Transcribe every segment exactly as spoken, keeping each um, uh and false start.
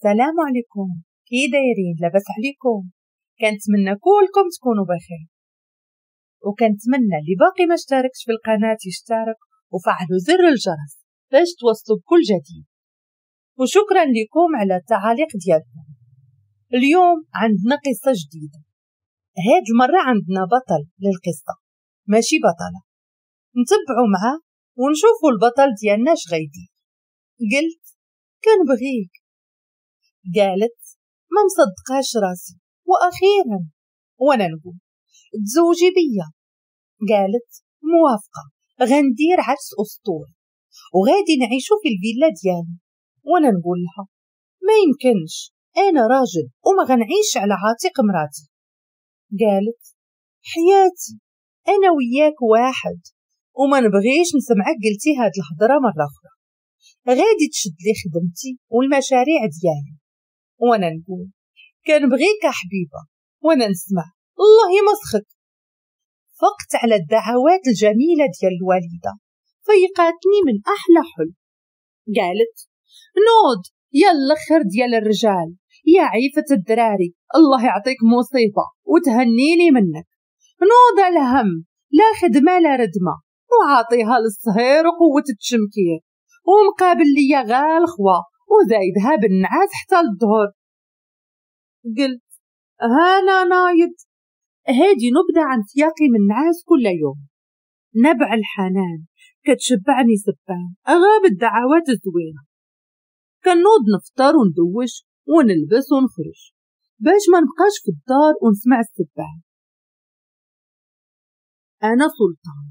السلام عليكم، كي دايرين؟ لاباس عليكم؟ كنتمنى كلكم تكونوا بخير، وكنتمنى اللي باقي ما اشتركش في القناة يشترك وفعلوا زر الجرس باش توصلوا بكل جديد، وشكرا لكم على التعاليق ديالكم. اليوم عندنا قصة جديدة، هاد المرة عندنا بطل للقصة ماشي بطلة، نتبعوا معاه ونشوفوا البطل ديالنا اش غيدير. قلت كنبغيك، قالت ما مصدقاش راسي واخيرا، وانا نقول تزوجي بيا، قالت موافقة، غندير عرس اسطوري وغادي نعيشو في الفيلا ديالي. وانا نقول لها ما يمكنش، انا راجل وما غنعيش على عاتق مراتي. قالت حياتي انا وياك واحد، وما نبغيش نسمعك قلتي هاد الهضرة مرة اخرى، غادي تشد لي خدمتي والمشاريع ديالي. وانا نقول كنبغيك يا حبيبه، وانا نسمع الله يمسخك. فقت على الدعوات الجميلة ديال الوالدة، فيقاتني من احلى حلم. قالت نوض يا الاخر ديال الرجال، يا عيفه الدراري، الله يعطيك مصيبة وتهنيني منك. نوض الهم، لا خدمة لا ردمه، وعاطيها للصهير وقوه التشمكير، ومقابل ليا غا الخوا وزايدها بالنعاس حتى للظهر. قلت هانا نايض، هادي نبدا عن سياقي من النعاس كل يوم. نبع الحنان كتشبعني سبان غاب الدعوات الزوينة. كنوض نفطر وندوش ونلبس ونخرج باش ما نبقاش في الدار ونسمع السبان. انا سلطان،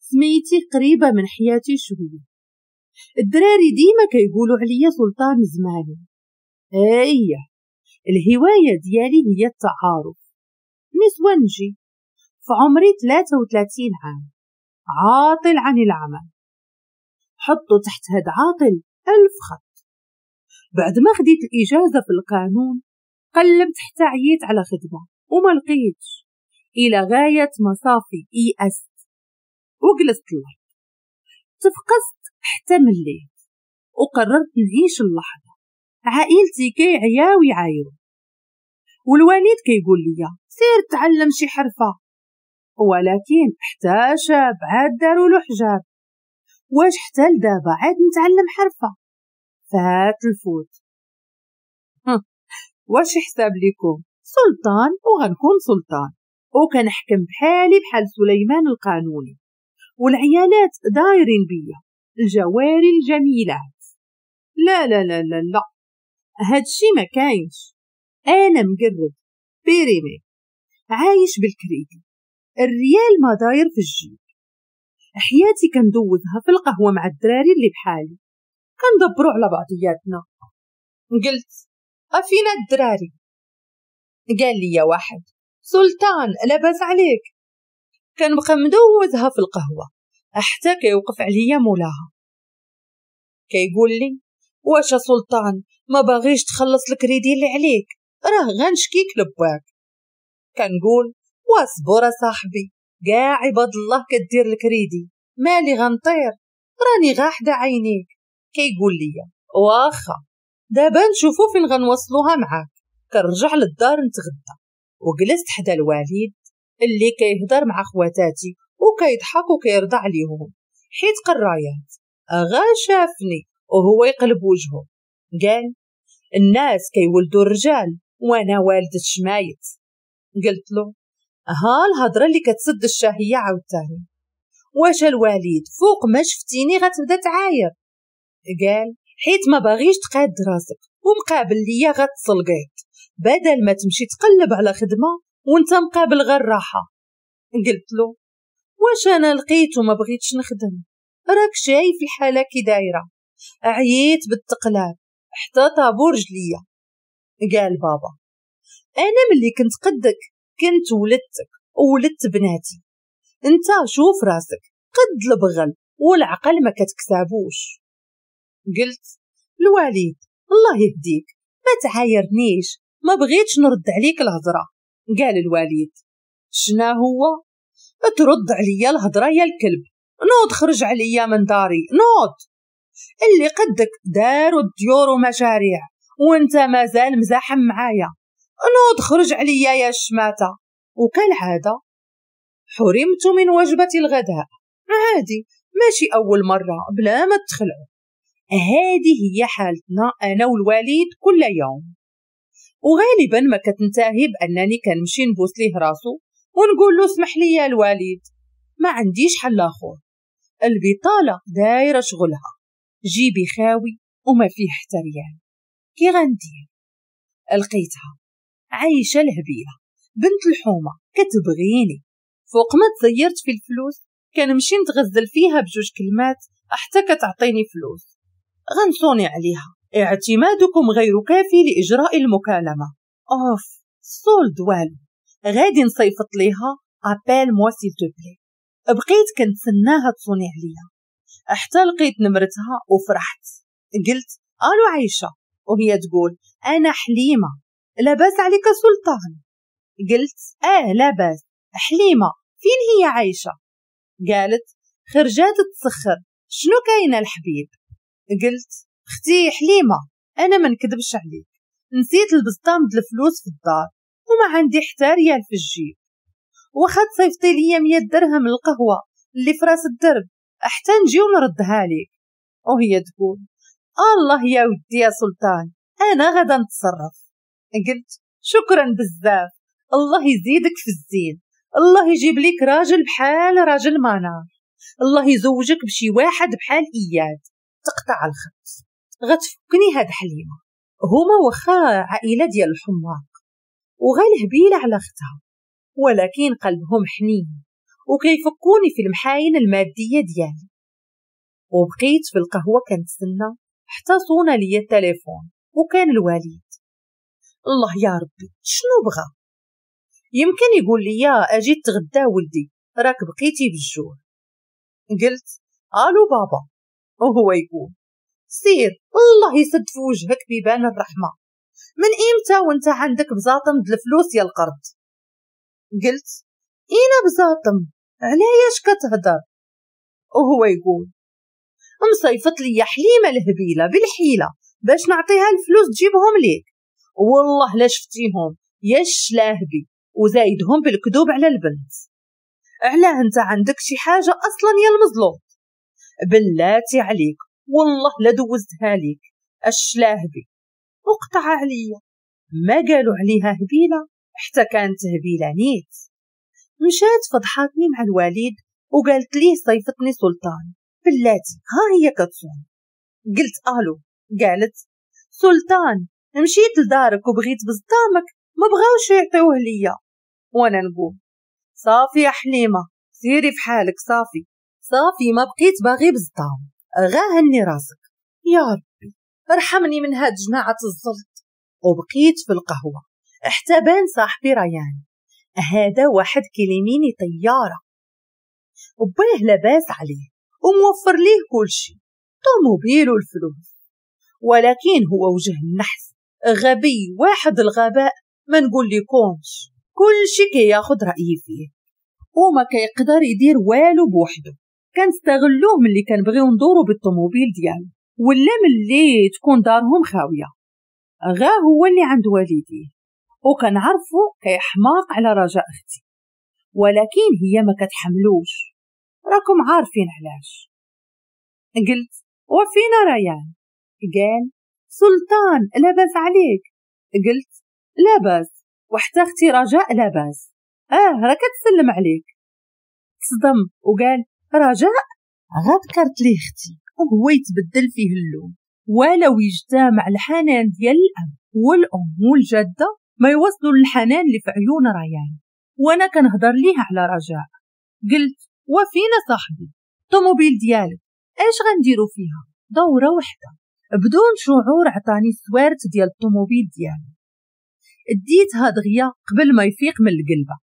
سميتي قريبه من حياتي شوية. الدراري ديما كيقولوا عليا سلطان زماني. ايه الهواية ديالي هي التعارف. نسونجي، في عمري ثلاثة وثلاثين عام، عاطل عن العمل. حطوا تحت هاد عاطل ألف خط. بعد ما خديت الإجازة في القانون قلبت حتى عييت على خدمة وما لقيتش، إلى غاية مصافي يأست وجلست الأرض. تفقست حتى مليت وقررت نعيش اللحظة. عائلتي كيعياو يعايرو، والوالد كيقول لي سير تعلم شي حرفة، ولكن حتى شاب عاد داروا له حجاب. واش حتى لدابا عاد نتعلم حرفة؟ فات الفوت. واش حساب لكم؟ سلطان وغنكون سلطان، وكنحكم بحالي بحال سليمان القانوني، والعيالات دايرين بيا الجواري الجميلات. لا لا لا لا لا، هادشي ما كاينش. انا مقرد périmé، عايش بالكريدي، الريال ما داير في الجيب. حياتي كندوزها في القهوة مع الدراري اللي بحالي، كندبروا على بعضياتنا. قلت افينا الدراري؟ قال لي يا واحد سلطان لاباس عليك. كنبقى مدوزها في القهوة حتى كيوقف عليا مولاها، كيقول لي واش سلطان ما باغيش تخلص الكريدي اللي عليك، راه غنشكيك لباك. كنقول واصبر صاحبي، كاع عباد الله كدير الكريدي، مالي غنطير، راني غا حدا عينيك. كيقول لي واخا دابا نشوفو فين غنوصلوها معاك. كنرجع للدار نتغدى، وجلست حدا الوالد اللي كيهضر مع خواتاتي وكيضحك وكيرضى عليهم حيت قرايات. غا شافني وهو يقلب وجهه، قال الناس كيولدوا الرجال وانا والدة شمايت. قلت له ها الهضرة اللي كتسد الشهية عاوتاني، واش الوالد فوق ما شفتيني غتبدا تعاير؟ قال حيت ما باغيش تقاد راسك ومقابل ليا غتسلقيت، بدل ما تمشي تقلب على خدمة وانت مقابل غير راحة. قلت له واش انا لقيت وما بغيتش نخدم؟ راك شايف الحالة كي دايرة، عييت بالتقلاب حتى طابور رجليا. قال بابا انا ملي كنت قدك كنت ولدتك وولدت بناتي، انت شوف راسك قد البغل والعقل ما كتكسابوش. قلت الوالد الله يهديك ما تعايرنيش، ما بغيتش نرد عليك الهضرة. قال الوالد شنا هو؟ ترد عليا الهضرة يا الكلب، نوض خرج عليا من داري، نوض. اللي قدك داروا الديور ومشاريع وانت مازال مزاحم معايا، نوض خرج عليا يا الشماتة. وكالعادة حرمت من وجبة الغداء. عادي، ماشي أول مرة، بلا ما تخلعوا. هذه هي حالتنا أنا والوالد كل يوم، وغالبا ما كتنتهي بأنني كنمشي نبوس ليه راسو ونقول له اسمح لي يا الوالد، ما عنديش حل آخر، البطالة دايرة شغلها، جيبي خاوي وما فيه حتى ريال. كي غندير؟ لقيتها عايشة الهبيلة بنت الحومة كتبغيني، فوق ما تزيرت في الفلوس كنمشي نتغزل فيها بجوج كلمات حتى كتعطيني فلوس. غنصوني عليها، اعتمادكم غير كافي لإجراء المكالمة. اوف solde والو، غادي نصيفط ليها appelle-moi s'il te plaît. بقيت كنتسناها تصوني عليا حتى لقيت نمرتها وفرحت. قلت الو عايشة، وهي تقول انا حليمة، لاباس عليك سلطان؟ قلت اه لاباس. حليمة فين هي عايشة؟ قالت خرجات تسخر، شنو كاينة الحبيب؟ قلت اختي حليمة انا ما نكذبش عليك، نسيت البسطام د الفلوس في الدار وما عندي حتى ريال في الجيب، واخا تصيفطي ليا مية درهم القهوة اللي في راس الدرب حتى نجي ونردها لك. وهي تقول الله يا ودي يا سلطان انا غدا نتصرف. قلت شكرا بزاف، الله يزيدك في الزين، الله يجيب لك راجل بحال راجل منار، الله يزوجك بشي واحد بحال اياد. تقطع الخط. غتفكني هاد حليمة، هما واخا عائلة ديال الحماق وغير هبيله على اختها، ولكن قلبهم حنين وكيفكوني في المحاين المادية ديالي. وبقيت في القهوة كنتسنى حتى صونا ليا التليفون وكان الوالد. الله يا ربي شنو بغى؟ يمكن يقول لي اجي تغدى ولدي راك بقيتي بالجوع. قلت الو بابا، وهو يقول سير الله يسد في وجهك بيبان الرحمة، من امتى وانت عندك بزاطم د الفلوس يا القرد؟ قلت اينا بزاطم، علاش كتهدر؟ وهو يقول مصيفط لي حليمة الهبيله بالحيله باش نعطيها الفلوس تجيبهم ليك، والله لا شفتيهم يا الشلاهبي، وزايدهم بالكذوب على البنت. علاه انت عندك شي حاجة اصلا يا المزلوط؟ بلاتي عليك والله لا دوزتها ليك الشلاهبي. وقطع عليا، ما قالوا عليها هبيله حتى كانت هبيله نيت. مشات فضحاتني مع الوالد وقالت ليه صيفتني سلطان، بلاتي ها هي كتصون. قلت الو، قالت سلطان مشيت لدارك وبغيت بزطامك ما بغاوش يعطيوه ليا. وانا نقول صافي يا حليمة سيري في حالك، صافي صافي ما بقيت باغي بزطام، غاهني راسك يا ربي ارحمني من هاد جماعة الزلط. وبقيت في القهوة حتى بان صاحبي ريان، هذا واحد كيليميني طيارة وباه لاباس عليه وموفر ليه كل شيء، طوموبيل والفلوس، ولكن هو وجه النحس غبي واحد الغباء ما نقول لكمش، كل شيء كياخد رأيي فيه وما كيقدر يدير والو بوحده. كنستغلوه ملي كنبغيو ندورو بالطوموبيل ديالو ولا ملي تكون دارهم خاوية، غا هو اللي عند والديه، وكنعرفو كيحماق على رجاء اختي، ولكن هي ما كتحملوش، راكم عارفين علاش. قلت وفينا ريان؟ قال سلطان لاباس عليك؟ قلت لاباس وحتى اختي رجاء لاباس، اه راه كتسلم عليك. تصدم وقال رجاء؟ غذكرت ليه اختي وهو يتبدل فيه اللون، ولو يجتمع الحنان ديال الاب والام والجدة ما يوصلوا للحنان اللي في عيون ريان. وانا كنهضر ليه على رجاء. قلت وفينا صاحبي الطوموبيل ديالك اش غنديرو فيها؟ دوره وحده بدون شعور عطاني السوارت ديال الطوموبيل ديالي، اديتها دغيا قبل ما يفيق من القلبه.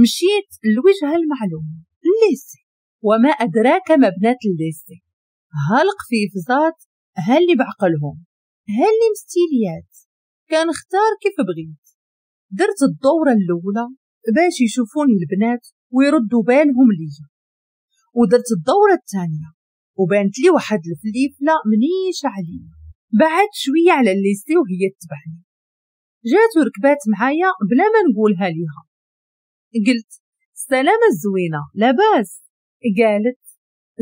مشيت للوجهه المعلومة ال lycée، وما ادراك ما بنات ال lycée، ها القفيفزات ها اللي بعقلهم ها اللي مستيليات، كنختار كيف بغيت. درت الدورة الاولى باش يشوفوني البنات ويردوا بالهم ليا، ودرت الدورة الثانية وبانت لي واحد الفليفله منيشه عليا بعد شوية على ال lycée وهي تبعني، جات وركبات معايا بلا ما نقولها ليها. قلت السلامة الزوينة لاباس؟ قالت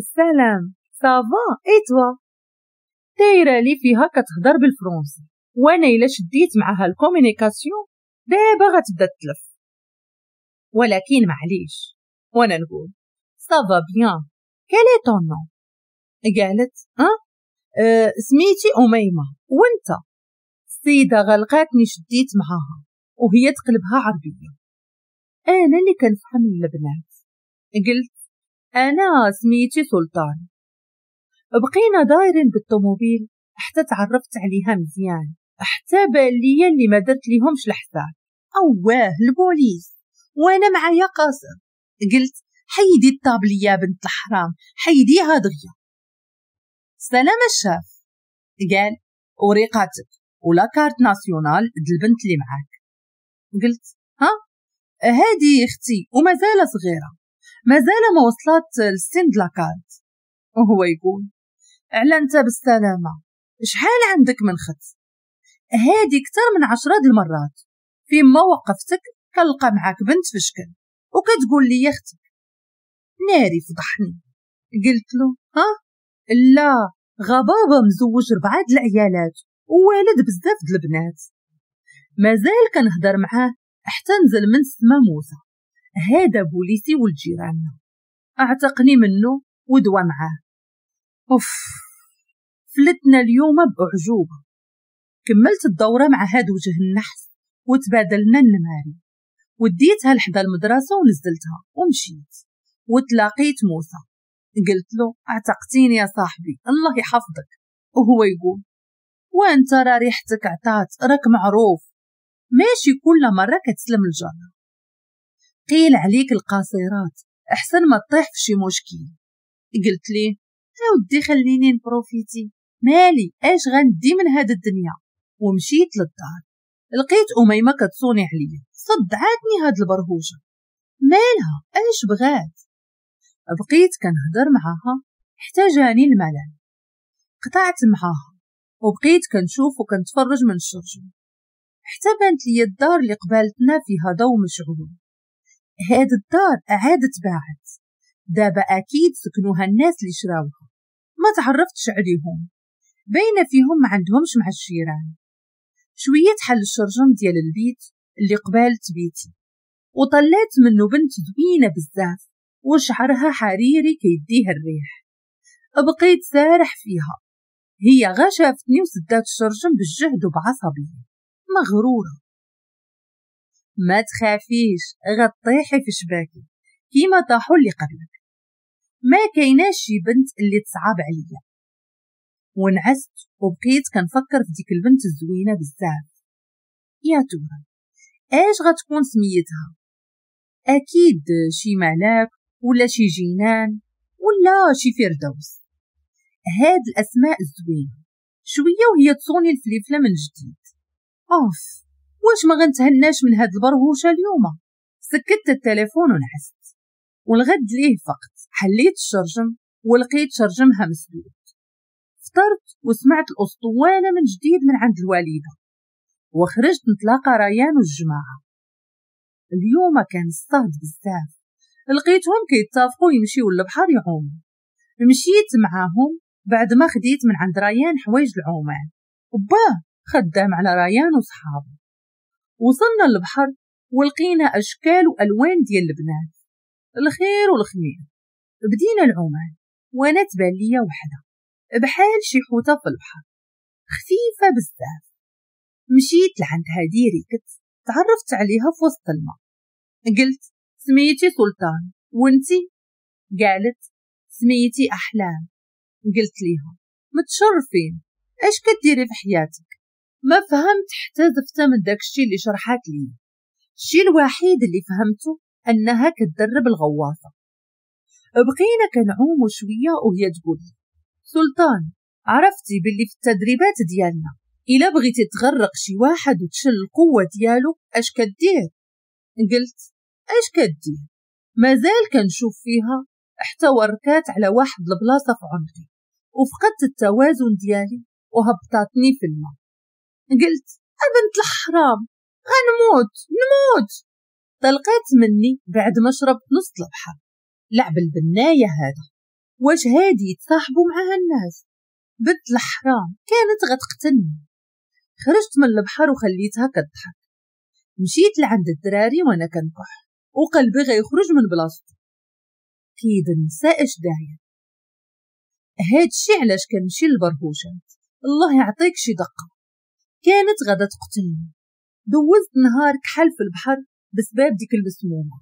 السلام ça va et toi. دايرة لي فيها كتهضر بالفرنسي، وانا الا شديت معاها ال communication دابا غتبدا تلف، ولكن معليش. وانا نقول ça va bien، quel est ton nom؟ قالت أه؟, أه سميتي أميمة، وانت؟ السيدة غلقاتني شديت معاها وهي تقلبها عربية. انا اللي كنفهم البنات. قلت انا سميتي سلطان. بقينا دايرين بالطوموبيل حتى تعرفت عليها مزيان، حتى بان ليا اللي ما درت ليهمش الحساب. اواه البوليس وانا معايا قاصر. قلت حيدي الطابليه بنت الحرام، حيديها دغيا. سلام الشاف. قال وريقاتك و la carte nationale د البنت اللي معاك. قلت ها هادي اختي ومازال صغيرة، مازال ما وصلت للسن د la carte. وهو يقول على انت بالسلامة، شحال عندك من خت؟ هادي اكثر من عشرة د المرات فيما وقفتك كنلقى معاك بنت في شكل وكتقول لي يا اختك. ناري فضحني. قلت له ها لا، غبابه مزوج ربعه د العيالات ووالد بزاف د البنات. مازال كنهضر معاه حتى نزل من السما موسى، هذا بوليسي ولد جيراننا، اعتقني منه ودوا معاه. اوف فلتنا اليوم باعجوبه. كملت الدورة مع هاد وجه النحس وتبادلنا النماري، وديتها لحدا المدرسة ونزلتها ومشيت وتلاقيت موسى. قلت له اعتقتيني يا صاحبي الله يحفظك. وهو يقول وانت راه ريحتك عطات، راك معروف، ماشي كل مرة كتسلم الجرة. قيل عليك القاصرات احسن ما تطيح في شي مشكل. قلت ليه ودي خليني ن profiter، مالي اش غندي من هاد الدنيا. ومشيت للدار لقيت أميمة كتصوني عليا، صدعاتني هاد البرهوشة، مالها اش بغات؟ بقيت كنهضر معاها حتى جاني الملل، قطعت معاها وبقيت كنشوف وكنتفرج من الشرجم حتى بانت لي الدار اللي قبالتنا فيها ضو مشعول. هاد الدار عادت باعت، دابا اكيد سكنوها الناس اللي شراوها، ما تعرفتش عليهم، باينة فيهم ما عندهمش مع الجيران. شوية حل الشرجم ديال البيت اللي قبالت بيتي وطلعت منه بنت زوينة بزاف وشعرها حريري كيديه الريح. بقيت سارح فيها، هي غا شافتني وسدات الشرجم بالجهد وبعصبيه مغروره. ما تخافيش غطيحي في شباكي كيما طاحوا اللي قبلك، ما كايناش شي بنت اللي تصعب عليا. ونعست وبقيت كنفكر في ديك البنت الزوينة بزاف. يا ترى اش غتكون سميتها؟ اكيد شي ملاك ولا شي جنان ولا شي فردوس، هاد الاسماء الزوينة. شوية وهي تصوني الفليفله من جديد. اوف واش ما غنتهناش من هاد البرهوشه اليوم؟ سكت التليفون ونعست. والغد ليه فقط حليت الشرجم ولقيت شرجمها مسدود. فطرت وسمعت الاسطوانة من جديد من عند الوالدة، وخرجت نتلاقى ريان والجماعة. اليوم كان الصهد بزاف، لقيتهم كيتفقوا يمشيو للبحر يعوموا. مشيت معاهم بعد ما خديت من عند ريان حوايج العومان، وباه خدام على ريان وصحابه. وصلنا للبحر ولقينا اشكال والوان ديال البنات، الخير والخمير. بدينا العومان وانا تبان ليا وحده بحال شي حوته في البحر، خفيفة بزاف. مشيت لعندها direct، تعرفت عليها في وسط الماء. قلت سميتي سلطان وانتي؟ قالت سميتي احلام. قلت ليها متشرفين، اش كديري في حياتك؟ ما فهمت حتى زفته من داكشي اللي شرحات لي. الشيء الوحيد اللي فهمته انها كتدرب الغواصة. بقينا كنعوموا شوية وهي تقول سلطان عرفتي باللي في التدريبات ديالنا الا بغيتي تغرق شي واحد وتشل القوة ديالو اش كدير؟ قلت اش كدير؟ مازال كنشوف فيها حتى وركات على واحد البلاصة في عنقي وفقدت التوازن ديالي وهبطاتني في الماء. قلت أبنت الحرام غنموت نموت. طلقات مني بعد ما شربت نص البحر. لعب البناية هذا، واش هادي يتصاحبوا معها الناس؟ بنت الحرام كانت غتقتلني. خرجت من البحر وخليتها كتضحك. مشيت لعند الدراري وانا كنكح وقلبي غيخرج من بلاصتو. كيد النساء اش داير. هادشي علاش كنمشي للبرهوشات، الله يعطيك شي دقه. كانت غادا تقتلني. دوزت نهار كحل في البحر بسبب ديك المسمومه.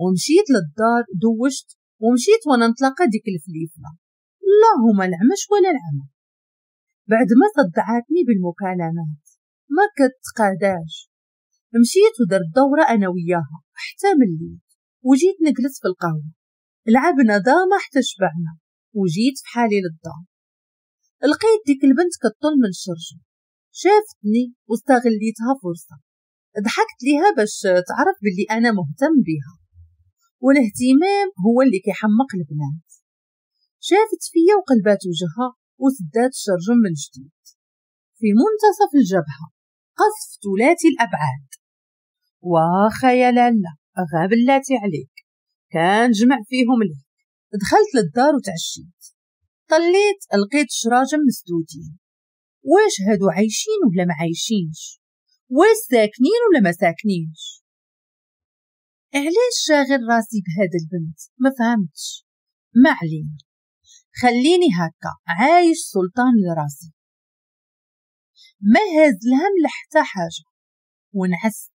ومشيت للدار دوشت ومشيت وانا نتلاقى ديك الفليفله، اللهم العمش ولا العمى. بعد ما صدعاتني بالمكالمات ما كتقاداش. مشيت ودرت دورة أنا وياها حتى مليت، وجيت نجلس في القهوة. لعبنا داما حتى شبعنا، وجيت في حالي للدار. لقيت ديك البنت كطل من الشرجم، شافتني واستغليتها فرصة. ضحكت ليها باش تعرف باللي أنا مهتم بها، والاهتمام هو اللي كيحمق البنات. شافت فيا وقلبات وجهها وسدات الشرجم من جديد. في منتصف الجبهة قصف ثلاثي الأبعاد. واخا يا لالا غابلاتي عليك، كان جمع فيهم ليك. دخلت للدار وتعشيت. طليت لقيت شراجم مسدودين. واش هادو عايشين ولا ما عايشينش؟ واش ساكنين ولا ما ساكنينش؟ علاش شاغل راسي بهذا البنت؟ ما فهمتش. ما علينا، خليني هكا عايش سلطان لراسي، ما هاز الهم لحتى حاجة. ونعست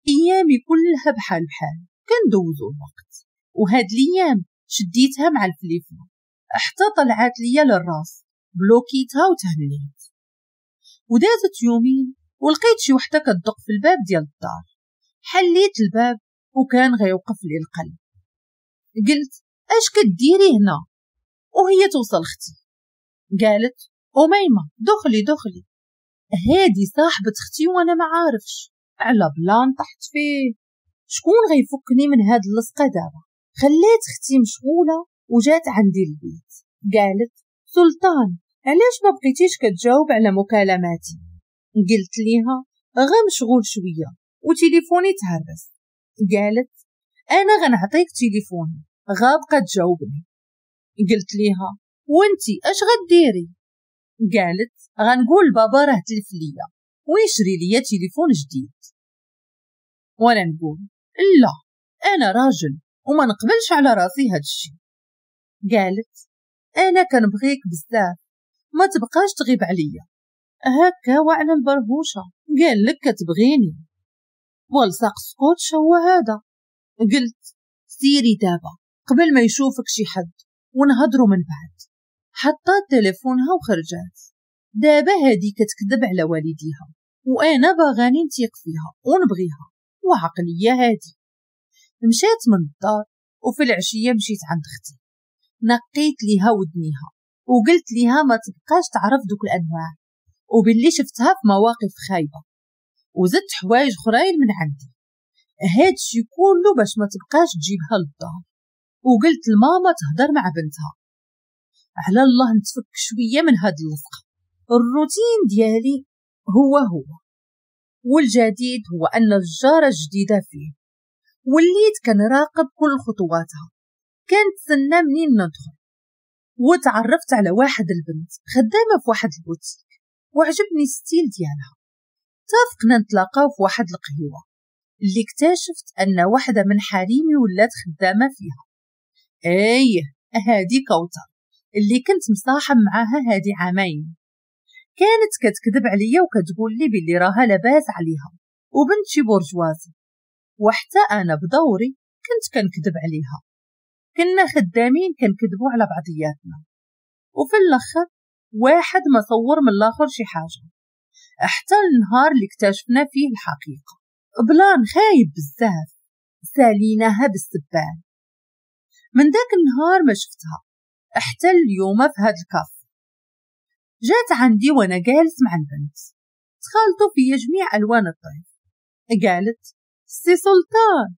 ايامي كلها بحال بحال كندوزو الوقت. وهاد الايام شديتها مع الفليفله حتى طلعت ليا للراس، بلوكيتها وتهنيت. ودازت يومين ولقيت شي وحده كتدق في الباب ديال الدار. حليت الباب وكان غيوقف لي القلب. قلت اش كديري هنا؟ وهي توصل اختي. قالت أميمة دخلي دخلي. هادي صاحبة اختي وانا ما عارفش على plan طحت فيه. شكون غيفكني من هاد اللصقه دابا؟ خليت اختي مشغولة وجات عندي البيت. قالت سلطان علاش ما بقيتيش كتجاوب على مكالماتي؟ قلت ليها غا مشغول شوية وتليفوني تهرس. قالت انا غنعطيك تليفوني غا بقى تجاوبني. قلت ليها وانتي اش غديري؟ قالت غنقول بابا راه تلف ليا ويشري ليا تليفون جديد. وانا نقول لا انا راجل وما نقبلش على راسي هادشي. قالت انا كنبغيك بزاف ما تبقاش تغيب عليا هكا وعلى البرهوشه. قال لك كتبغيني والصق سكوتش هو هذا. قلت سيري دابا قبل ما يشوفك شي حد ونهضروا من بعد. حطات تليفونها وخرجات. دابا هادي كتكذب على والديها وانا باغاني نتيق فيها ونبغيها وعقلية هادي. مشات من الدار وفي العشية مشيت عند اختي، نقيت ليها ودنيها وقلت ليها ما تبقاش تعرف دوك الانواع وباللي شفتها في مواقف خايبة، وزدت حوايج اخرين من عندي. هادشي كله باش ما تبقاش تجيبها للدار. وقلت لماما تهضر مع بنتها. على الله نتفك شوية من هاد اللصقه. الروتين ديالي هو هو، والجديد هو ان الجاره الجديدة فيه. وليت كنراقب كل خطواتها، كنتسنى منين ندخل. وتعرفت على واحد البنت خدامه في واحد البوتيك وعجبني ال style ديالها. اتفقنا نتلاقاو في واحد القهوة اللي اكتشفت ان واحدة من حريمي ولات خدامه فيها. ايه هادي كوثر اللي كنت مصاحب معاها هادي عامين. كانت كتكذب عليا وكتقول لي باللي راها لاباس عليها وبنت شي برجوازي، وحتى انا بدوري كنت كنكذب عليها. كنا خدامين كنكذبوا على بعضياتنا، وفي الاخر واحد ما صور من الاخر شي حاجة حتى النهار اللي اكتشفنا فيه الحقيقة. plan خايب بزاف ساليناها بالسبان. من ذاك النهار ما شفتها حتى اليوم في هاد الكاف. جات عندي وانا جالس مع البنت، تخالطوا في جميع الوان الطيف. قالت سي سلطان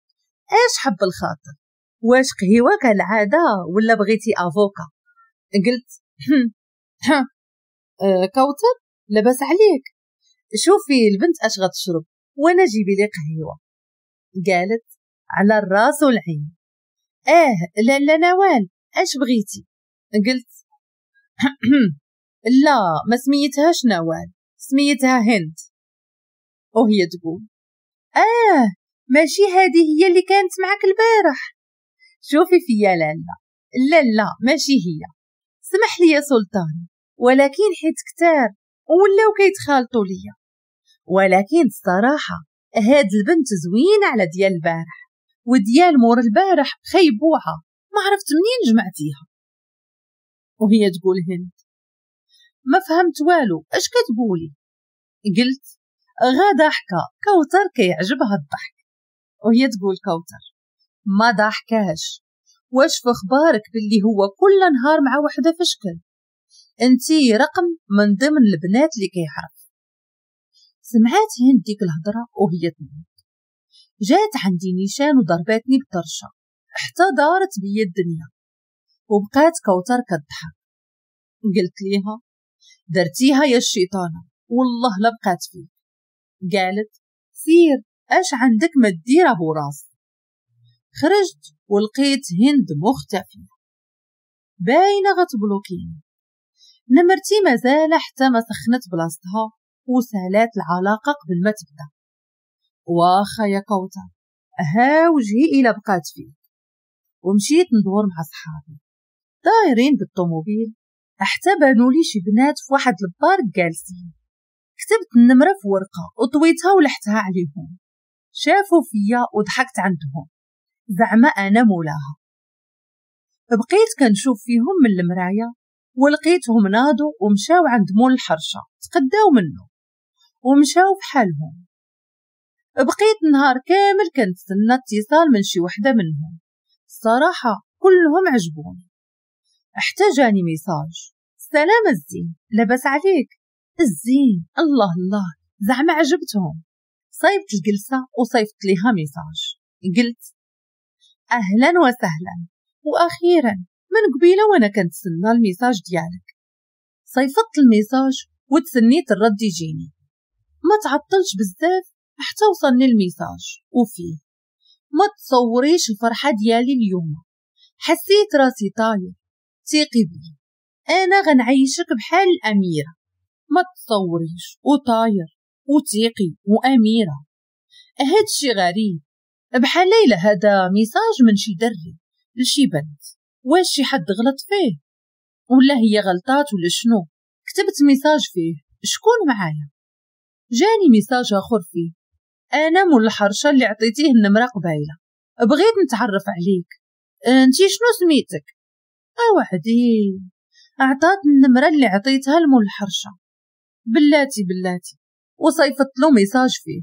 اش حب الخاطر، واش قهوة كالعادة ولا بغيتي avocat؟ قلت أه كوثر لاباس عليك، شوفي البنت اش غتشرب وانا جيبي لي قهوة. قالت على الراس والعين. اه لا لا نوال اش بغيتي؟ قلت لا ما سميتهاش نوال، سميتها هند. وهي تقول اه ماشي هذه هي اللي كانت معك البارح؟ شوفي فيا لالا، لا لا ماشي هي، سمح لي يا سلطان ولكن حيت كتار ولاو كيتخالطوا ليا، ولكن الصراحة هاد البنت زوينة على ديال البارح وديال مور البارح خيبوعه، ما عرفت منين جمعتيها. وهي تقول هند ما فهمت والو اش كتقولي؟ قلت غا ضحكه، كوثر كيعجبها الضحك. وهي تقول كوثر ما ضحكاش، واش في اخبارك باللي هو كل نهار مع وحده في شكل، انتي رقم من ضمن البنات اللي كيعرف. سمعات هند ديك الهضرة وهي تنوض، جات عندي نيشان وضرباتني بطرشه حتى دارت بيا الدنيا، وبقات كوثر كتضحك. قلت ليها درتيها يا الشيطانه والله لا بقات فيك. قالت سير اش عندك ما دير ابو راس. خرجت ولقيت هند مختفيه باينة غتبلوكيني، نمرتي مازال حتى ما سخنت بلاصتها وسالات العلاقة قبل ما تبدا. واخا يا كوثر ها وجهي الى بقات فيك. ومشيت ندور مع صحابي دايرين بالطوموبيل حتى بانوا لي شي بنات في واحد ال parc جالسين. كتبت النمرة في ورقة وطويتها ولحتها عليهم، شافوا فيا وضحكت عندهم زعما انا مولاها. بقيت كنشوف فيهم من المراية ولقيتهم ناضوا ومشاو عند مول الحرشه تقداو منه ومشاو بحالهم. بقيت نهار كامل كنتسنى اتصال من شي وحده منهم، الصراحة كلهم عجبوني. حتى جاني message سلام الزين لاباس عليك الزين، الله الله زعما عجبتهم. صيبت الجلسة وصيفت ليها message قلت اهلا وسهلا واخيرا من قبيلة وانا كنتسنى ال message ديالك. صيفطت ال message وتسنيت الرد يجيني، ما تعطلش بزاف حتى وصلني ال message وفيه ما تصوريش الفرحة ديالي اليوم، حسيت راسي طاير، ثقي بي انا غنعيشك بحال الاميرة، ما تصوريش وطاير وثيقي واميره. هادشي غريب بحال ليلى هذا message من شي دري لشي بنت، واش شي حد غلط فيه ولا هي غلطات ولا شنو؟ كتبت message فيه شكون معايا، جاني message اخر فيه انا مول الحرشه اللي عطيتيه النمرة قبيلة، بغيت نتعرف عليك، انتي شنو سميتك؟ اوعدي عطات النمرة اللي عطيتها لمول الحرشه، بلاتي بلاتي. وصيفط له message فيه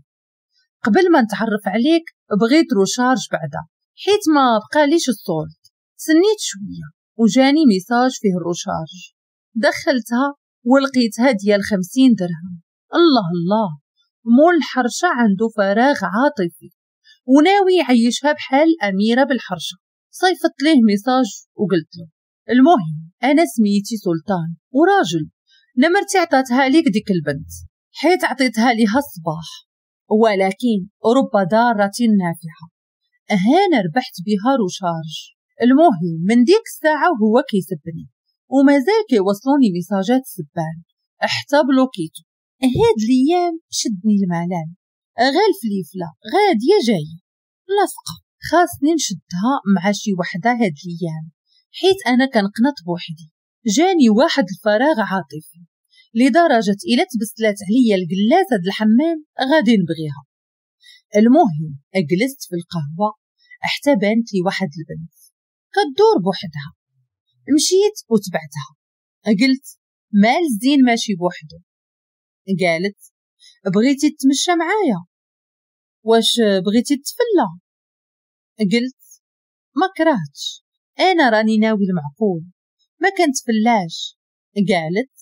قبل ما نتعرف عليك بغيت recharge بعدا حيت ما بقاليش ال solde. سنيت شوية وجاني message فيه ال recharge، دخلتها ولقيتها ديال خمسين درهم. الله الله مول الحرشه عنده فراغ عاطفي وناوي يعيشها بحال الاميرة بالحرشه. صيفط ليه message وقلت له المهم انا سميتي سلطان وراجل، نمرتي عطاتها ليك ديك البنت حيت عطيتها ليها الصباح، ولكن رب ضارة نافعة، هانا ربحت بها recharge. المهم من ديك الساعة وهو كيسبني ومازال كيوصلوني ميساجات السبان حتى بلوكيتو. هاد الايام شدني الملل، غير الفليفله غادية جاية لاصقه، خاصني نشدها مع شي وحده هاد الايام حيت انا كنقنط بوحدي. جاني واحد الفراغ عاطفي لدرجة الا تبسلات عليا الجلاسه د الحمام غادي نبغيها. المهم جلست في القهوة حتى بانت لي واحد البنت كدور بوحدها، مشيت وتبعتها. قلت مال الزين ماشي بوحدو؟ قالت بغيتي تتمشى معايا؟ واش بغيتي تتفلى؟ قلت ما كرهتش، انا راني ناوي المعقول ما كنتفلاش. قالت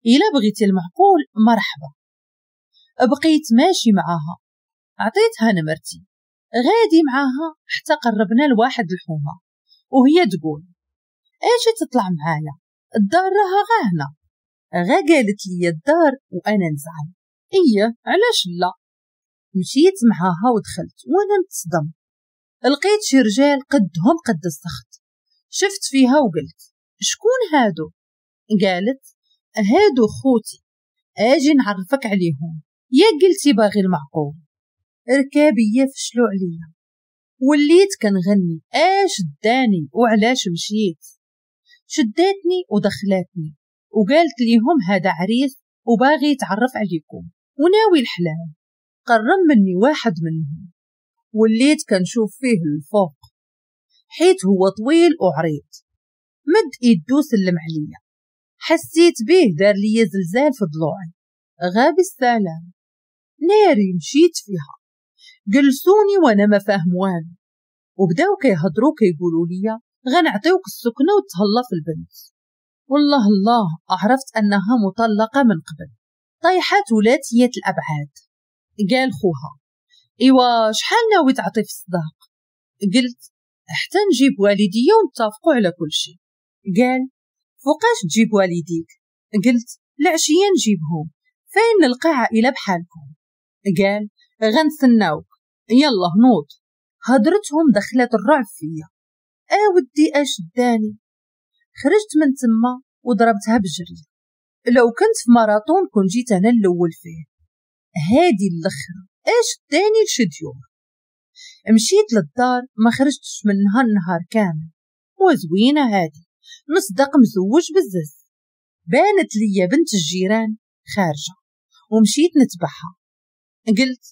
الا بغيتي المعقول مرحبا. بقيت ماشي معاها، عطيتها نمرتي، غادي معاها حتى قربنا لواحد الحومه وهي تقول اجي تطلع معايا الدار راها غاهنه. غا قالت لي الدار وانا نزعم. ايه علاش لا. مشيت معاها ودخلت وانا نتصدم، لقيت شي رجال قدهم قد السخط. شفت فيها وقلت شكون هادو؟ قالت هادو خوتي، اجي نعرفك عليهم. يا قلتي باغي المعقول. ركابيه فشلو عليا، وليت كنغني اش داني وعلاش مشيت. شداتني ودخلاتني وقالت ليهم هذا عريس وباغي يتعرف عليكم وناوي الحلال. قرب مني واحد منهم، وليت كنشوف فيه الفوق حيت هو طويل وعريض. مد ايدو سلم عليا، حسيت به دار لي زلزال في ضلوعي. غاب السلام، ناري مشيت فيها. جلسوني وانا ما فاهم والو، وبداو كيهضروا كيقولوا لي غنعطيوك السكنة وتهلا في البنت. والله الله عرفت انها مطلقه من قبل، طيحه ثلاثية الابعاد. قال خوها ايوا شحال ناوي تعطي في الصداق؟ قلت حتى نجيب والديا ونتفقوا على كل شيء. قال فوقاش تجيب والديك؟ قلت العشية نجيبهم، فين نلقى عائلة بحالكم؟ قال غنستناوك، يلا نوض. هضرتهم دخلت الرعب فيا. اودي اش داني. خرجت من تما وضربتها بجري. لو كنت في ماراطون كون جيت انا الاول فيه. هادي الاخرى اش داني لشديور. مشيت للدار ما خرجتش منها النهار كامل. وزوينه هادي، نصدق مزوج بزز. بانت ليا بنت الجيران خارجه ومشيت نتبعها. قلت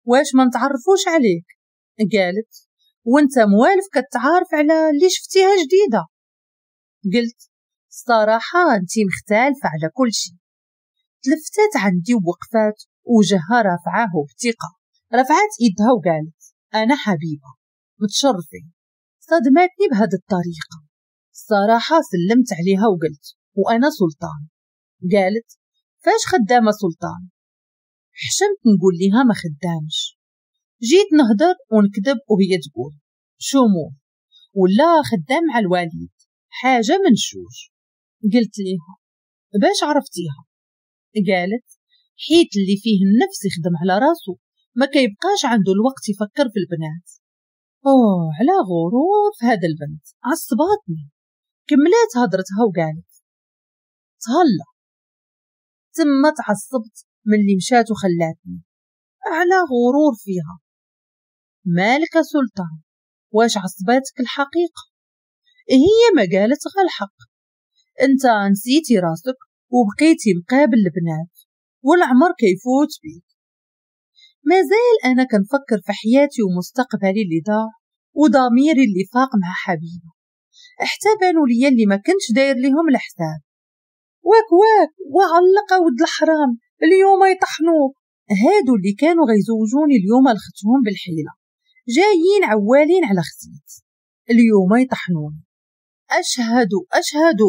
واش ما نتعرفوش عليك؟ قالت وانت موالف كتعارف على اللي شفتيها جديدة. قلت الصراحة انتي مختلفة على كل شيء. تلفتات عندي ووقفات وجهها رافعاه بثقة. رفعت ايدها وقالت انا حبيبه متشرفين. صدمتني بهذه الطريقة. الصراحة سلمت عليها وقلت وانا سلطان. قالت فاش خدامه سلطان؟ حشمت نقول ليها ما خدامش. جيت نهدر ونكذب وهي تقول شومو ولا خدام مع الوالد، حاجة من شوج. قلت ليها باش عرفتيها؟ قالت حيت اللي فيه النفس يخدم على راسو ما كيبقاش عنده الوقت يفكر في البنات. اوه على غرور في هذا البنت، عصباتني. كملات هضرتها وقالت تهلا. تما تعصبت من اللي مشات وخلاتني. على غرور فيها. مالك سلطان واش عصباتك الحقيقة؟ هي ما قالت غير الحق. انت نسيتي راسك وبقيتي مقابل البنات والعمر كيفوت بيك. مازال انا كنفكر في حياتي ومستقبلي اللي ضاع وضميري اللي فاق مع حبيبه. حتى بانوا ليا اللي ما كنتش داير ليهم الحساب. واك واك وعلق ود الحرام اليوم يطحنوك. هادو اللي كانوا غيزوجوني اليوم لختهم بالحيله، جايين عوالين على خسيت اليوم يطحنوني. اشهد اشهد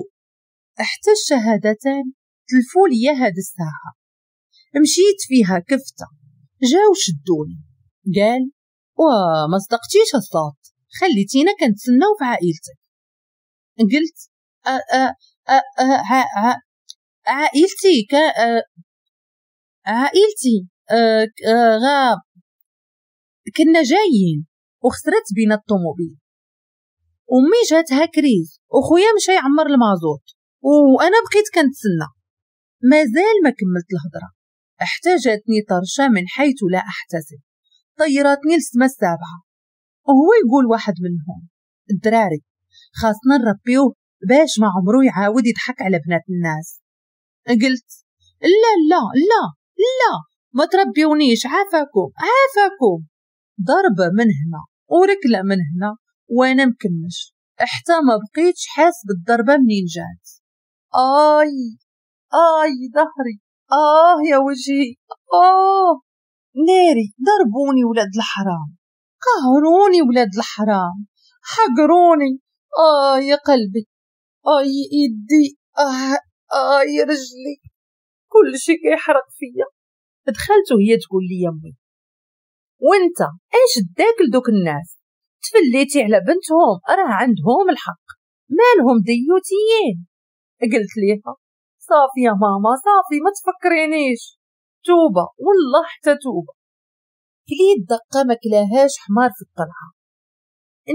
حتى الشهادتان تلفوا لي هاد الساعة. مشيت فيها كفته، جاو شدوني. قال وما صدقتيش الصوت، خليتينا كنتسناو في عائلتك. قلت أ أ أ أ ع عائلتي ك عائلتي غا كنا جايين وخسرت بينا الطوموبيل. امي جاتها crise وخويا مشى يعمر المازوت وانا بقيت كنتسنى. مازال ما كملت الهضرة حتى جاتني طرشه من حيث لا احتسب، طيراتني للسما السابعة. وهو يقول واحد منهم الدراري خاصنا نربيوه باش ما عمرو يعاود يضحك على بنات الناس. قلت لا لا لا لا ما تربيونيش، عافاكم عافاكم. ضربه من هنا وركله من هنا وانا مكمش حتى ما بقيتش حاس بالضربه منين جات. اي اي ظهري، اه يا وجهي، اه ناري. ضربوني ولاد الحرام، قهروني ولاد الحرام، حقروني. اه يا قلبي، اه يا ايدي، اه اه يا رجلي، كل شيء كيحرق فيا. دخلت وهي تقول لي يا امي وانت ايش داك لدوك الناس؟ تفليتي على بنتهم، راه عندهم الحق، مالهم ديوتيين. قلت ليها صافي يا ماما صافي ما تفكرينيش، توبه والله حتى توبه. كليت دقه ما كلاهاش حمار في الطلعة.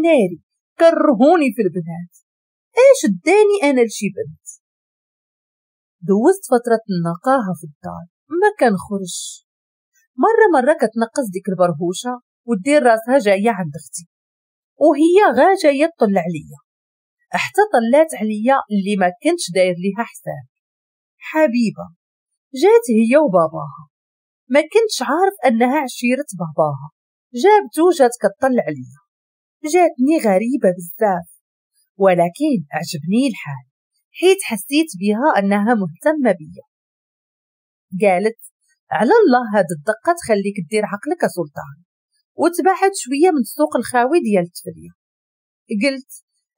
ناري كرهوني في البنات، ايش اداني انا لشي بنت؟ دوزت فترة النقاهه في الدار ما كنخرج، مرة مرة كتنقص ديك البرهوشه ودير راسها جاية عند اختي، وهي غا جاية تطلع عليا، حتى طلات عليا اللي ما كنتش داير ليها حساب. حبيبه جات هي وباباها، ما كنتش عارف انها عشيره باباها، جابتو جات كتطلع عليا، جاتني غريبة بزاف، ولكن عجبني الحال حيت حسيت بها انها مهتمة بيا. قالت على الله هاد الدقة تخليك دير عقلك سلطان وتبعد شوية من السوق الخاوي ديال التفليه. قلت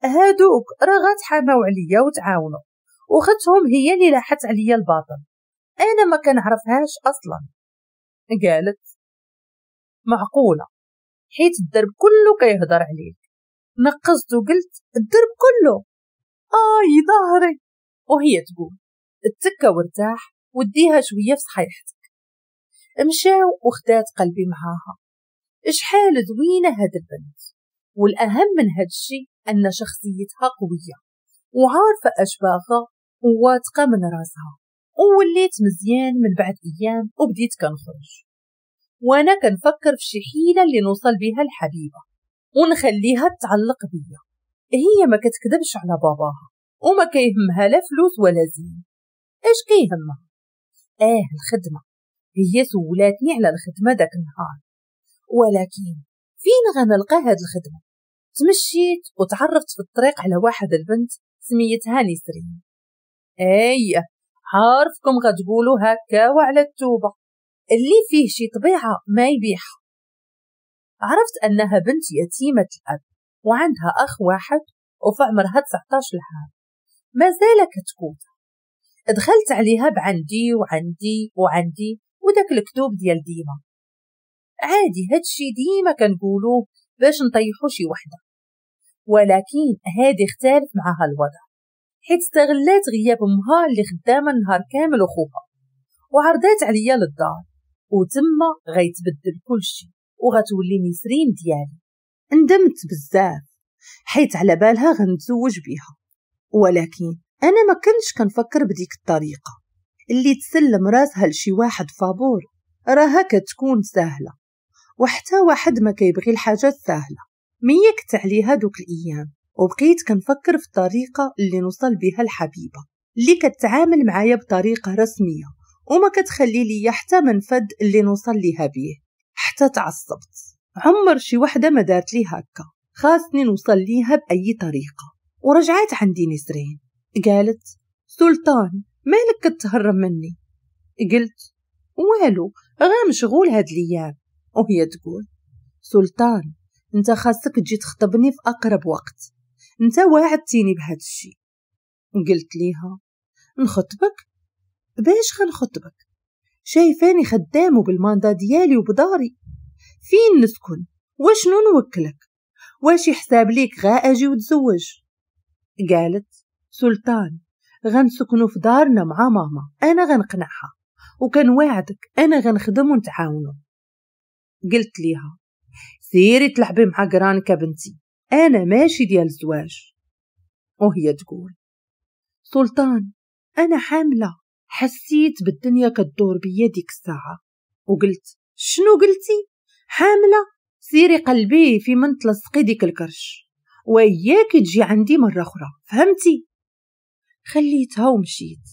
هادوك راه غتحاماو عليا وتعاونوا، وختهم هي اللي لاحت عليا الباطل، انا ما كنعرفهاش اصلا. قالت معقولة حيت الدرب كله كيهضر عليك. نقزت وقلت الدرب كله؟ آي ظهري. وهي تقول اتكا وارتاح وديها شوية في صحيحتك. مشاو وخدات قلبي معاها. شحال زوينة هاد البنت، والاهم من هاد الشي ان شخصيتها قوية وعارفه اش باغا وواثقه من راسها. ووليت مزيان من بعد ايام وبديت كنخرج وانا كنفكر في شي حيله اللي نوصل بها الحبيبة ونخليها تعلق بيا. هي ما كتكذبش على باباها وما كيهمها لا فلوس ولا زين. اش كيهمها؟ اه الخدمة. هي سولاتني على الخدمة داك النهار، ولكن فين غنلقى هاد الخدمة؟ تمشيت وتعرفت في الطريق على واحد البنت سميتها نسرين. ايه عارفكم غتقولوا هكا وعلى التوبة، اللي فيه شي طبيعة ما يبيعها. عرفت انها بنت يتيمة الاب وعندها اخ واحد وفي عمرها تسعطاش عام، مازال كتكوتة. دخلت عليها بعندي وعندي وعندي وداك الكتوب ديال ديما. عادي هادشي ديما كنقولوه باش نطيحو شي وحده، ولكن هادي اختلف معها الوضع حيت استغلات غياب امها اللي خدامه النهار كامل وخوها، وعرضات عليا للدار، وتما غيتبدل كلشي وغتولي نسرين ديالي. ندمت بزاف حيت على بالها غنتزوج بيها، ولكن انا ما كنتش كنفكر بديك الطريقة. اللي تسلم راسها لشي واحد فابور راها كتكون سهلة، وحتى واحد ما كيبغي الحاجات سهلة. ميكت عليها دوك الايام وبقيت كنفكر في الطريقة اللي نوصل بها الحبيبة اللي كتعامل معايا بطريقة رسمية وما كتخلي لي حتى منفذ اللي نوصل ليها بيه. حتى تعصبت، عمر شي وحده ما دارت لي هكا، خاصني نوصل ليها باي طريقه. ورجعت عندي نسرين قالت سلطان مالك كتهرب مني؟ قلت والو غير مشغول هاد الايام. وهي تقول سلطان انت خاصك تجي تخطبني في اقرب وقت، انت واعدتيني بهاد الشيء. قلت ليها نخطبك؟ باش غنخطبك؟ شايفاني خدام وبالماندا ديالي وبداري، فين نسكن وشنو نوكلك؟ واش يحساب ليك غا اجي وتزوج؟ قالت سلطان غنسكنو في دارنا مع ماما، انا غنقنعها وكنواعدك انا غنخدم ونتعاونو. قلت ليها سيري تلعبي مع قرانك بنتي، انا ماشي ديال الزواج. وهي تقول سلطان انا حامله. حسيت بالدنيا كدور بيا ديك الساعة وقلت شنو قلتي؟ حامله؟ سيري قلبي في من تلصقي ديك الكرش، وياك تجي عندي مرة اخرى، فهمتي؟ خليتها ومشيت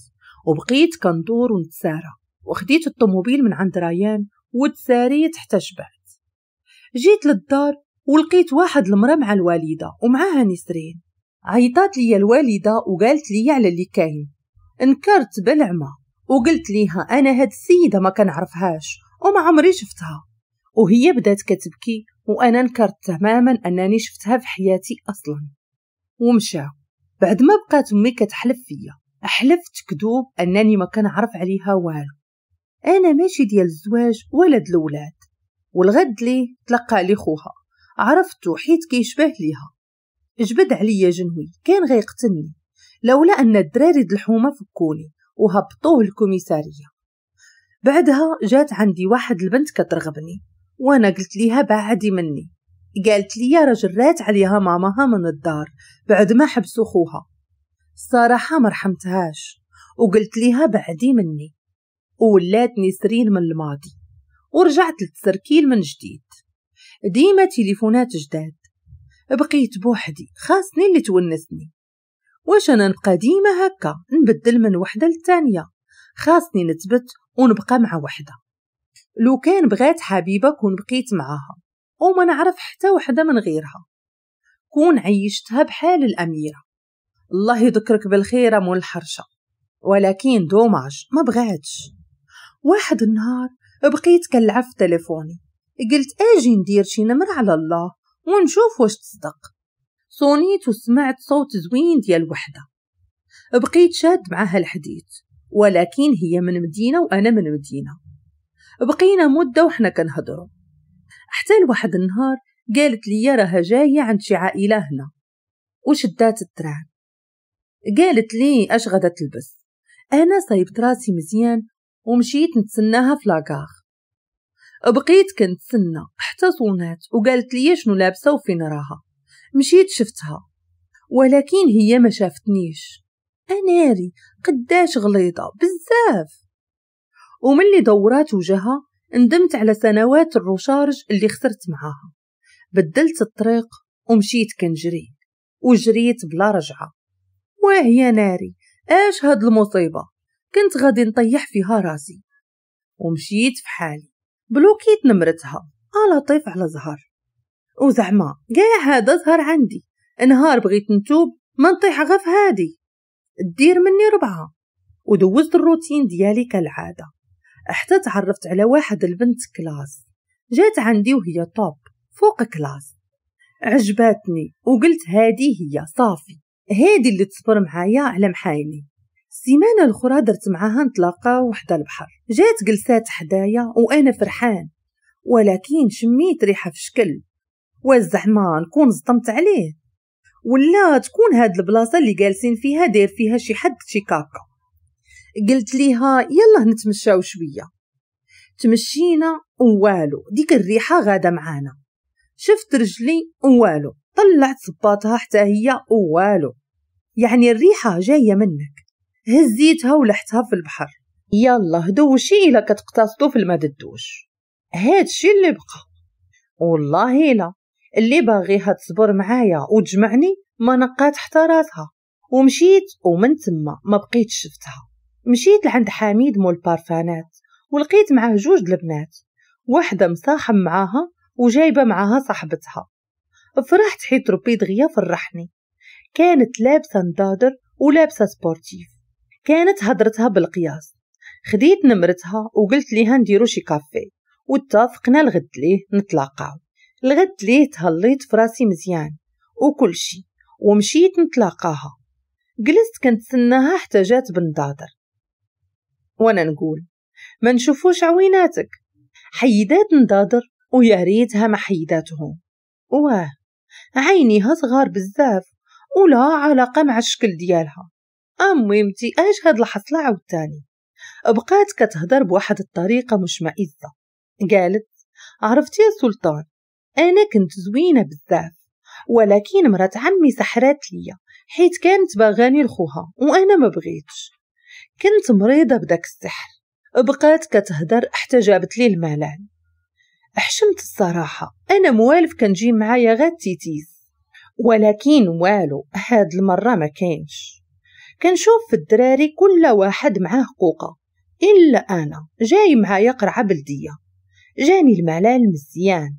وبقيت كندور ونتسارى، وخديت الطوموبيل من عند ريان وتساريت حتى شبعت. جيت للدار ولقيت واحد المراة مع الوالدة ومعاها نسرين. عيطات لي الوالدة وقالت لي على اللي كاين. انكرت بالعمى وقلت ليها انا هاد السيدة ما كنعرفهاش وما عمري شفتها، وهي بدات كتبكي وانا انكرت تماما انني شفتها في حياتي اصلا. ومشاو. بعد ما بقات امي كتحلف فيا، حلفت كذوب انني ما كنعرف عليها والو، انا ماشي ديال الزواج ولا د الاولاد. والغد ليه تلقى لي خوها، عرفتو حيت كيشبه ليها، جبد عليا جنوي كان غيقتلني لولا ان الدراري د الحومه فكوني وهبطوه الكوميسارية. بعدها جات عندي واحد البنت كترغبني، وانا قلت ليها بعدي مني. قالت لي راه جرات عليها ماماها من الدار بعد ما حبسوا خوها. الصراحة ما رحمتهاش وقلت ليها بعدي مني، وولات نسرين من الماضي، ورجعت للتسركيل من جديد. ديما تليفونات جداد، بقيت بوحدي، خاصني اللي تونسني. واش انا نبقى ديما هكا نبدل من وحده للثانيه؟ خاصني نثبت ونبقى مع وحده. لو كان بغات حبيبه كون بقيت معاها وما نعرف حتى وحده من غيرها، كون عيشتها بحال الاميرة. الله يذكرك بالخير مول الحرشه، ولكن dommage ما بغاتش. واحد النهار بقيت كنلعب في تليفوني، قلت اجي ندير شي نمر على الله ونشوف واش تصدق. صونيت وسمعت صوت زوين ديال وحده، بقيت شاد معاها الحديث، ولكن هي من مدينة وانا من مدينة. بقينا مده وحنا كنهضروا، حتى لواحد النهار قالت لي راها جاية عند شي عائلة هنا، وشدات ال train. قالت لي اش غادا تلبس. انا صايبت راسي مزيان ومشيت نتسناها في la gare. بقيت كنتسنى حتى صونات وقالت لي شنو لابسه وفين راها. مشيت شفتها، ولكن هي ما شافتنيش. اناري قداش غليظة بزاف. وملي دورات وجهها ندمت على سنوات ال recharge اللي خسرت معاها. بدلت الطريق ومشيت كنجري، وجريت بلا رجعه. وهي ناري اش هاد المصيبة، كنت غادي نطيح فيها راسي. ومشيت في حالي، بلوكيت نمرتها على طيف على زهر. وزعما كاع هذا زهر عندي، نهار بغيت نتوب ما نطيح غف هادي دير مني ربعه. ودوزت الروتين ديالي كالعادة، حتى تعرفت على واحد البنت classe، جات عندي وهي top فوق classe. عجباتني وقلت هادي هي صافي، هادي اللي تصبر معايا على محايني. السيمانة الاخرى درت معاها نتلاقاو وحده البحر، جات جلسات حدايا وانا فرحان، ولكن شميت ريحه في شكل، وزعما نكون صدمت عليه ولا تكون هاد البلاصة اللي جالسين فيها داير فيها شي حد شي كاكا. قلت ليها يلا نتمشاو شوية. تمشينا ووالو ديك الريحة غاده معانا. شفت رجلي ووالو، طلعت صباطها حتى هي ووالو، يعني الريحة جاية منك. هزيتها ولحتها في البحر. يلا دوشي الا كتقتصدو في الماء الدوش. هادشي اللي بقى. والله لا اللي باغيها تصبر معايا وتجمعني ما نقات حتى راسها. ومشيت، ومن تما ما بقيتش شفتها. مشيت لعند حميد مول بارفانات ولقيت معاه جوج البنات، واحدة مصاحب معاها وجايبه معاها صاحبتها. فرحت حيت ربي دغيا فرحني. كانت لابسه نضادر ولابسه sportive، كانت هضرتها بالقياس. خديت نمرتها وقلت ليها نديرو شي كافي، واتفقنا الغد ليه نتلاقاو. الغد ليه تهليت في راسي مزيان وكل شي، ومشيت نتلاقاها. جلست كنتسناها حتى جات بنضادر، وانا نقول ما نشوفوش عويناتك. حيدات نضادر ويا ريتها ما حيداتهم. واه عينيها صغار بزاف ولا علاقة مع الشكل ديالها. اميمتي اش هاد الحصله عاوتاني. بقات كتهضر بواحد الطريقة مشمئزه. قالت عرفتي يا سلطان انا كنت زوينة بزاف، ولكن مرات عمي سحرات ليا حيت كانت باغاني لخوها وانا ما بغيتش، كنت مريضه بداك السحر. بقات كتهدر حتى جابت لي الملل. حشمت الصراحة، انا موالف كنجي معايا غير تيتيز، ولكن والو هاد المرة ما كاينش. كنشوف في الدراري كل واحد معاه قوقه الا انا جاي معايا قرعه بلديه. جاني الملل مزيان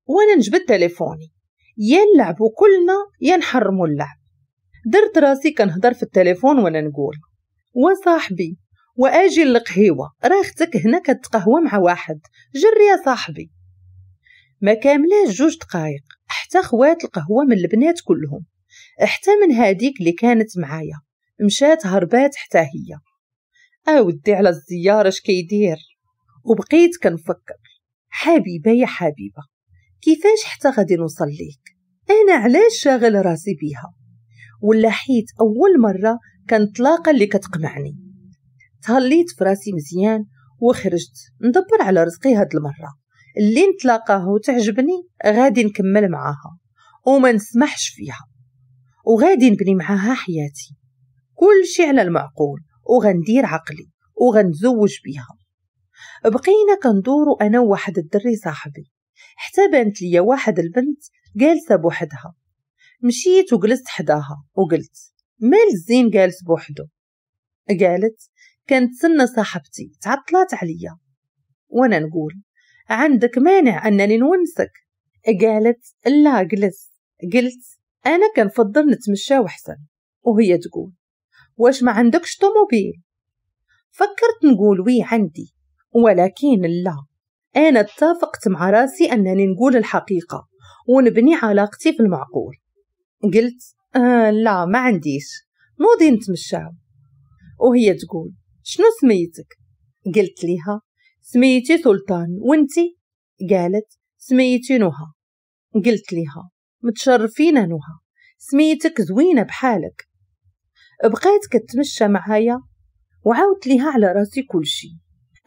وانا نجبد تليفوني، يا نلعبوا كلنا يا نحرموا اللعب. درت راسي كنهضر في التليفون وانا نقول وصاحبي واجي للقهيوه، راه اختك هنا كتقهوى مع واحد، جري يا صاحبي. ما كاملاش جوج دقايق حتى خوات القهوة من البنات كلهم، حتى من هاديك اللي كانت معايا مشات هربات حتى هي. اودي على الزيارة اش كيدير. وبقيت كنفكر حبيبه يا حبيبه كيفاش حتى غادي نوصل ليك، انا علاش شاغل راسي بيها؟ ولا حيت اول مرة كنتلاقى اللي كتقمعني. تهليت في راسي مزيان وخرجت ندبر على رزقي هاد المرة. اللي نتلاقاه وتعجبني غادي نكمل معاها وما نسمحش فيها، وغادي نبني معاها حياتي، كل شي على المعقول، وغندير عقلي وغنتزوج بيها. بقينا كندورو انا وواحد الدري صاحبي حتى بانت ليا واحد البنت جالسة بوحدها. مشيت وجلست حداها وقلت مال الزين جالس بوحدو؟ قالت كنتسنى صاحبتي تعطلات عليا. وانا نقول عندك مانع انني نونسك؟ قالت لا جلس. قلت انا كنفضل نتمشى وحسن. وهي تقول واش ما عندكش طوموبيل؟ فكرت نقول oui عندي، ولكن لا، انا اتفقت مع راسي انني نقول الحقيقة ونبني علاقتي في المعقول. قلت آه لا ما عنديش، نوضي نتمشاو. وهي تقول شنو سميتك؟ قلت لها سميتي سلطان، وانتي؟ قالت سميتي نهى. قلت لها متشرفين نهى، سميتك زوينة بحالك. بقيت كتمشى معايا وعاودت لها على راسي كل شيء،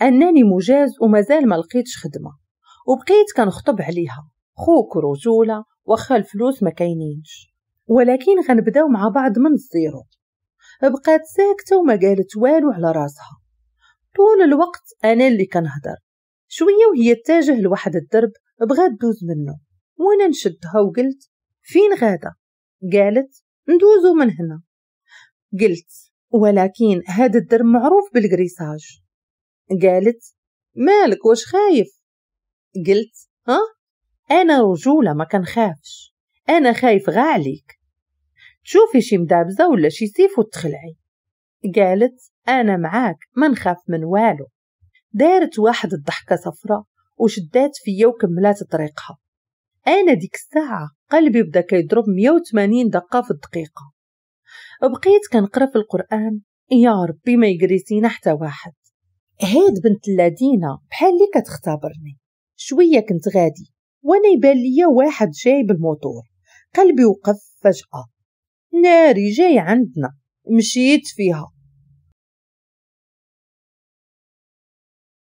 انني مجاز ومازال ما لقيتش خدمة، وبقيت كنخطب عليها خوك رجوله واخا الفلوس ما كاينينش، ولكن غنبداو مع بعض من ال zéro. بقات ساكته وما قالت والو على راسها. طول الوقت انا اللي كنهضر. شوية وهي تتجه لواحد الدرب بغات دوز منه، وانا نشدها وقلت فين غاده؟ قالت ندوزو من هنا. قلت ولكن هذا الدرب معروف بالكريساج. قالت مالك واش خايف؟ قلت ها انا رجوله ما كنخافش، انا خايف غا عليك تشوفي شي مدابزه ولا شي سيف وتخلعي. قالت انا معاك ما نخاف من والو. دارت واحد الضحكة صفرة وشدات فيا وكملات طريقها. انا ديك الساعة قلبي بدا كيضرب مية وثمانين دقه في الدقيقة. بقيت كنقرا في القران يا ربي ما يجريسينا حتى واحد. هاد بنت اللذينه بحال اللي كتختبرني. شوية كنت غادي وانا يبان ليا واحد جاي بالموتور. قلبي وقف فجاة، ناري جاي عندنا. مشيت فيها